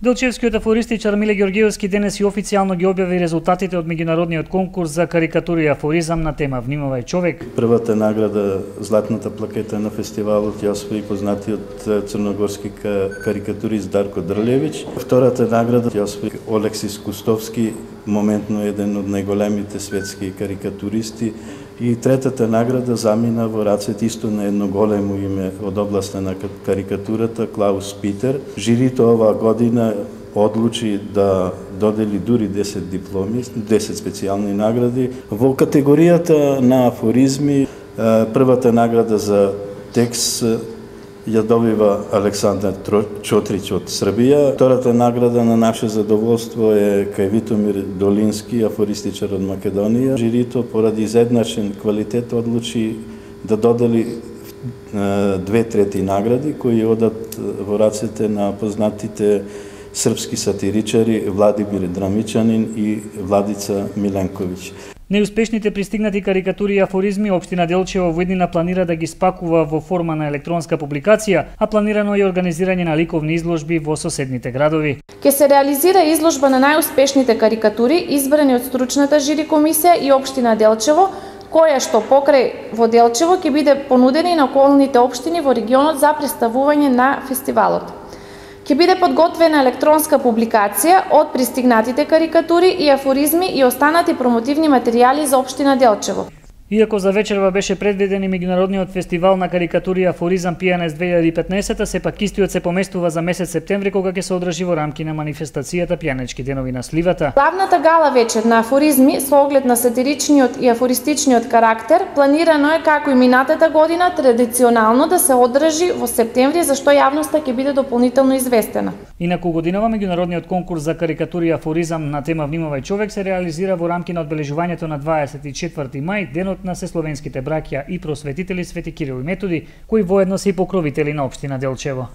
Делчевскиот афористичар Миле Ѓорѓевски денес и официјално ги објави резултатите од меѓународниот конкурс за карикатура и афоризам на тема Внимавај човек. Првата награда, златната плакета на фестивалот, ја освои познатиот црногорски карикатурист Дарко Дрљевич. Втората награда ја освои Олексис Кустовски, моментно еден од најголемите светски карикатуристи. И третата награда замина во рацете исто на едно големо име од областа на карикатурата, Клаус Питер. Жирито оваа година одлучи да додели дури 10 дипломи, 10 специјални награди. Во категоријата на афоризми, првата награда за текст ја добива Александар Чотрич од Србија. Втората награда на наше задоволство е кај Витомир Долински, афористичар од Македонија. Жирито поради изедначен квалитет одлучи да додели 2/3 награди кои одат во рацете на познатите српски сатиричари Владимир Драмичанин и Владица Миленковиќ. Неуспешните пристигнати карикатури и афоризми општина Делчево во иднина планира да ги спакува во форма на електронска публикација, а планирано е организирање на ликовни изложби во соседните градови. Ке се реализира изложба на најуспешните карикатури избрани од стручната жири комисија и општина Делчево, која што покрај во Делчево ќе биде понудена и на околните општини во регионот за представување на фестивалот. Ќе биде подготвена електронска публикација од пристигнатите карикатури и афоризми и останати промотивни материјали за општина Делчево. Иако за вечерва беше предвиден и меѓународниот фестивал на карикатури и афоризам PNS 2015, сепак истиот се поместува за месец септември, кога ќе се одржи во рамки на манифестацијата Пијанечки денови на сливата. Главната гала вечер на афоризми со оглед на сатиричниот и афористичниот карактер планирано е како и минатата година традиционално да се одржи во септември, за што јавноста ќе биде дополнително известена. Инаку годинава меѓународниот конкурс за карикатури и афоризам на тема Внимавај човек се реализира во рамки на одбележувањето на 24 мај, денот на сесловенските браќа и просветители Свети Кирил и Методи, кои воедно се и покровители на општина Делчево.